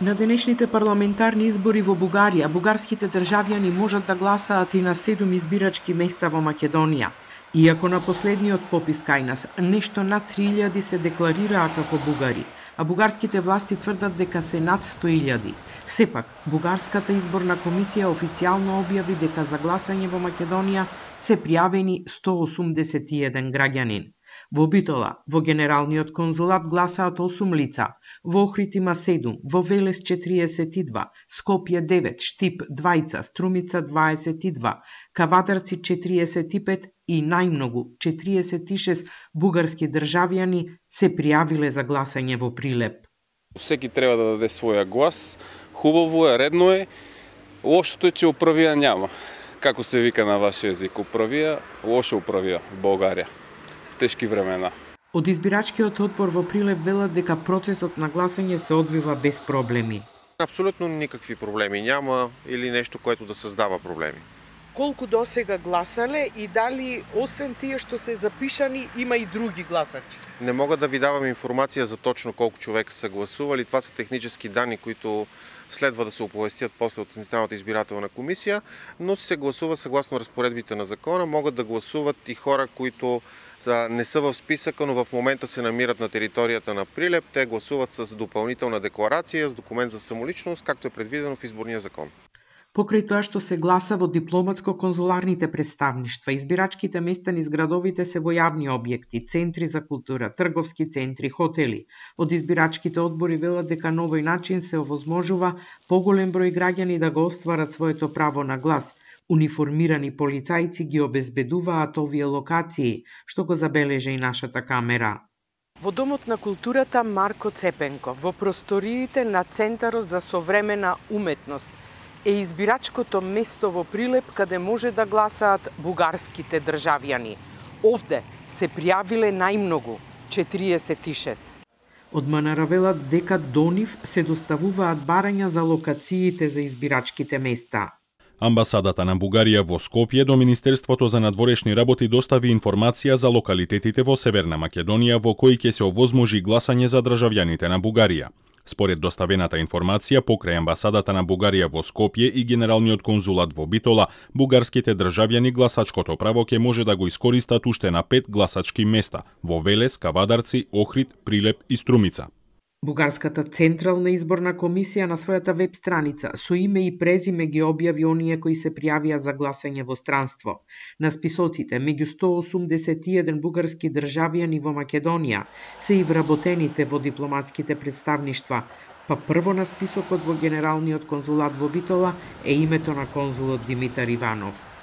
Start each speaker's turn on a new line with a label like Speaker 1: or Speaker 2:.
Speaker 1: На денешните парламентарни избори во Бугарија, бугарските државјани можат да гласаат и на 7 избирачки места во Македонија. Иако на последниот попис кај нас нешто над 3000 се декларираа како бугари, а бугарските власти тврдат дека се над 100.000. Сепак, Бугарската изборна комисија официјално објави дека за гласање во Македонија се пријавени 181 граѓанин. Во Битола, во Генералниот конзулат гласаат 8 лица, во Охрид има 7, во Велес 42, Скопје 9, Штип 2, Струмица 22, Кавадарци 45 и најмногу 46 бугарски државјани се пријавиле за гласање во Прилеп.
Speaker 2: Всеки треба да даде своја глас, хубаво е, редно е, лошото е че управија няма. Како се вика на ваш език, управија, лошо управија в Българија. Тешки времена.
Speaker 1: Од избирачкиот одбор во Прилеп велат дека процесот на гласање се одвива без проблеми.
Speaker 3: Апсолутно никакви проблеми няма или нешто което да создава проблеми.
Speaker 4: Колку досега гласале и дали освен тие што се запишани има и други гласачи?
Speaker 3: Не мога да ви давам информација за точно колку човека се гласували. Това се технически данни които следва да се оповестят после од Централната избирателна комисија, но се гласува согласно разпоредбите на закона. Могат да гласуват и хора които не са в списъка, но в момента се намират на територията на Прилеп. Те гласуват с допълнителна декларация, с документ за самоличност, както е предвидено в изборния закон.
Speaker 1: Покрај тоа што се гласа во дипломатско-конзуларните представништва, избирачките места низ градовите се во јавни објекти, центри за култура, трговски центри, хотели. Од избирачките одбори велат дека на овој начин се овозможува поголем број граѓани да го остварат своето право на глас. Униформирани полицајци ги обезбедуваат овие локации, што го забележа и нашата камера.
Speaker 4: Во Домот на културата Марко Цепенко, во просториите на Центарот за современа уметност, е избирачкото место во Прилеп каде може да гласаат бугарските државјани. Овде се пријавиле најмногу 46.
Speaker 1: Од МНР велат дека до нив се доставуваат барања за локациите за избирачките места.
Speaker 5: Амбасадата на Бугарија во Скопје до Министерството за надворешни работи достави информација за локалитетите во Северна Македонија во кои ќе се овозможи гласање за државјаните на Бугарија. Според доставената информација покрај Амбасадата на Бугарија во Скопје и Генералниот конзулат во Битола, бугарските државјани гласачкото право ќе може да го искористат уште на 5 гласачки места во Велес, Кавадарци, Охрид, Прилеп и Струмица.
Speaker 1: Бугарската Централна изборна комисија на својата веб страница со име и презиме ги објави оние кои се пријавија за гласање во странство. На списоците меѓу 181 бугарски државјани во Македонија се и вработените во дипломатските представништва, па прво на списокот во Генералниот конзулат во Битола е името на конзулот Димитар Иванов.